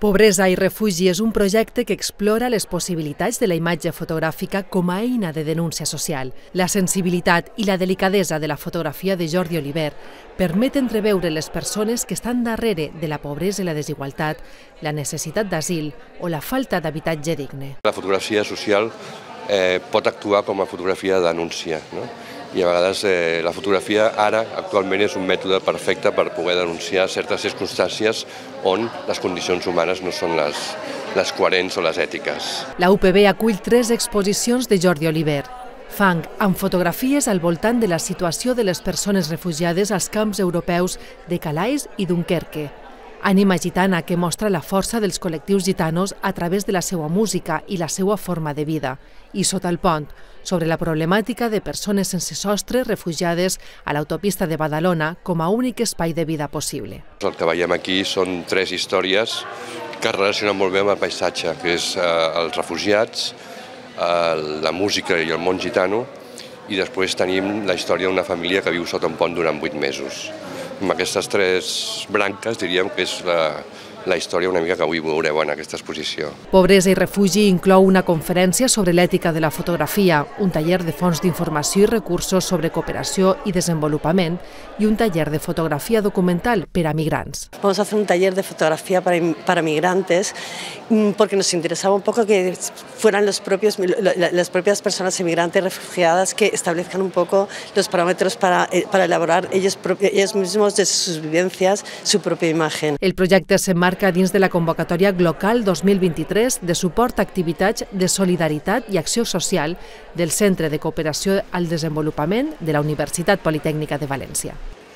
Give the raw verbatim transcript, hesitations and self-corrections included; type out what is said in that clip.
Pobresa i refugi és un projecte que explora les possibilitats de la imatge fotogràfica com a eina de denúncia social. La sensibilitat i la delicadesa de la fotografia de Jordi Oliver permet entreveure les persones que estan darrere de la pobresa i la desigualtat, la necessitat d'asil o la falta d'habitatge digne. La fotografia social eh, pot actuar com a fotografia de denúncia, no? I a vegades eh, la fotografia ara actualment és un mètode perfecte per poder denunciar certes circumstàncies on les condicions humanes no són les, les coherents o les ètiques. La U P B acull tres exposicions de Jordi Oliver. Fang, amb fotografies al voltant de la situació de les persones refugiades als camps europeus de Calais i Dunkerque. Ànima gitana, que mostra la força dels col·lectius gitanos a través de la seva música i la seva forma de vida. I Sota el pont, sobre la problemàtica de persones sense sostre refugiades a l'autopista de Badalona com a únic espai de vida possible. El que veiem aquí són tres històries que es relacionen molt bé amb el paisatge, que és eh, els refugiats, eh, la música i el món gitano, i després tenim la història d'una família que viu sota un pont durant vuit mesos. Amb aquestes tres branques diríem que és la, la història una mica que avui veureu en aquesta exposició. Pobresa i refugi inclou una conferència sobre l'ètica de la fotografia, un taller de fons d'informació i recursos sobre cooperació i desenvolupament i un taller de fotografía documental para migrants. Vamos a hacer un taller de fotografía para, para migrantes porque nos interesaba un poco que fueran los propios, las propias personas inmigrantes refugiadas que establezcan un poco los parámetros para, para elaborar ellos, ellos mismos de sus vivencias su propia imagen. El projecte s'emmarca dins de la convocatòria Glocal dos mil vint-i-tres de suport a activitats de solidaritat i acció social del Centre de Cooperació al Desenvolupament de la Universitat Politècnica de València.